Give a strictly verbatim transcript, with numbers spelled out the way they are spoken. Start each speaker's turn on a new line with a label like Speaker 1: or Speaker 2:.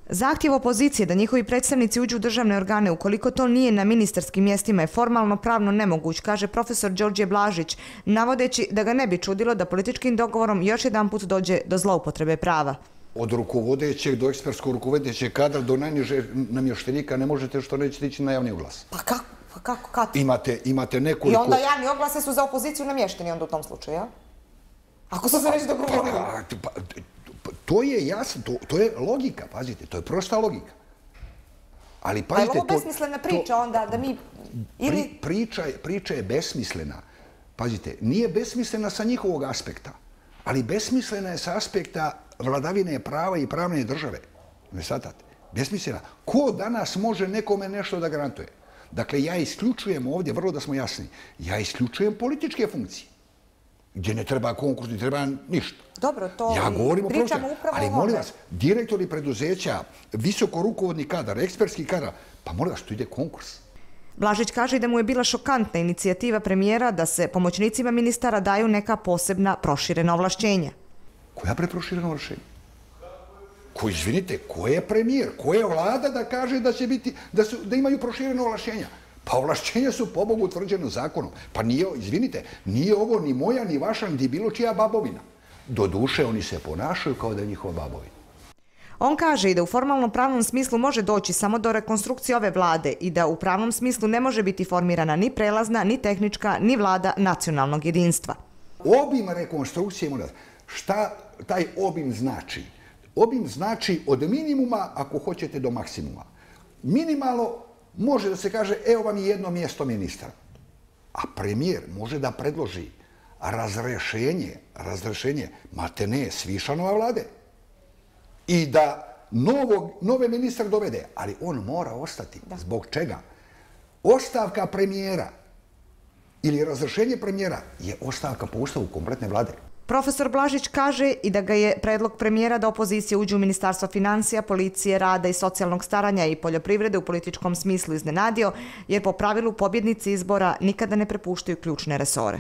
Speaker 1: Zahtjev opozicije da njihovi predstavnici uđu u državne organe ukoliko to nije na ministarskim mjestima je formalno pravno nemoguć, kaže profesor Đorđe Blažić, navodeći da ga ne bi čudilo da političkim dogovorom još jedanput dođe do zloupotrebe prava.
Speaker 2: Od rukovodećeg do ekspertskog rukovodećeg kadra do najniže namještenika ne možete što nećete ići na javni oglas.
Speaker 1: Pa kako? Pa kako? Kad?
Speaker 2: Imate, imate nekoliko...
Speaker 1: I onda javni oglase su za opoziciju namješteni onda u tom slučaju, ja? Ako su se već dogovorili.
Speaker 2: Pa, to je jasno, to, to je logika, pazite, to je prosta logika. Ali pazite...
Speaker 1: A je ovo besmislena priča onda da mi... Ili...
Speaker 2: Pri, priča, priča je besmislena. Pazite, nije besmislena sa njihovog aspekta, ali besmislena je sa aspekta vladavine prava i pravne države. Ne shvatate? Besmislena. Ko danas može nekome nešto da garantuje? Dakle, ja isključujem ovdje, vrlo da smo jasni, ja isključujem političke funkcije. Gdje ne treba konkurs, ne treba ništa.
Speaker 1: Dobro, to
Speaker 2: ja govorim
Speaker 1: pričamo
Speaker 2: o
Speaker 1: upravo
Speaker 2: ali
Speaker 1: o
Speaker 2: molim vas, direktori preduzeća, visoko rukovodni kadar, ekspertski kadar, pa molim vas, tu ide konkurs.
Speaker 1: Blažić kaže da mu je bila šokantna inicijativa premijera da se pomoćnicima ministara daju neka posebna proširena ovlašćenja.
Speaker 2: Koja preproširena ovlašćenja? Ko, izvinite, ko je premijer? Ko je vlada da kaže da će biti, da, su, da imaju proširena ovlašćenja? Pa ovlašćenja su po Bogu utvrđeno zakonom. Pa nije, izvinite, nije ovo ni moja, ni vaša, ni bilo čija babovina. Doduše, oni se ponašaju kao da je njihova babovina.
Speaker 1: On kaže i da u formalnom pravnom smislu može doći samo do rekonstrukcije ove vlade i da u pravnom smislu ne može biti formirana ni prelazna, ni tehnička, ni vlada nacionalnog jedinstva.
Speaker 2: Obim rekonstrukcije, šta taj obim znači? Obim znači od minimuma, ako hoćete, do maksimuma. Minimalno može da se kaže, evo vam je jedno mjesto ministra. A premijer može da predloži razrešenje, razrešenje, mate ne, svišanova vlade. I da novog, nove ministra dovede, ali on mora ostati. Da. Zbog čega? Ostavka premijera ili razrešenje premijera je ostavka po ustavu kompletne vlade.
Speaker 1: Profesor Blažić kaže i da ga je predlog premijera da opozicija uđe u Ministarstvo financija, policije, rada i socijalnog staranja i poljoprivrede u političkom smislu iznenadio, jer po pravilu pobjednici izbora nikada ne prepuštaju ključne resore.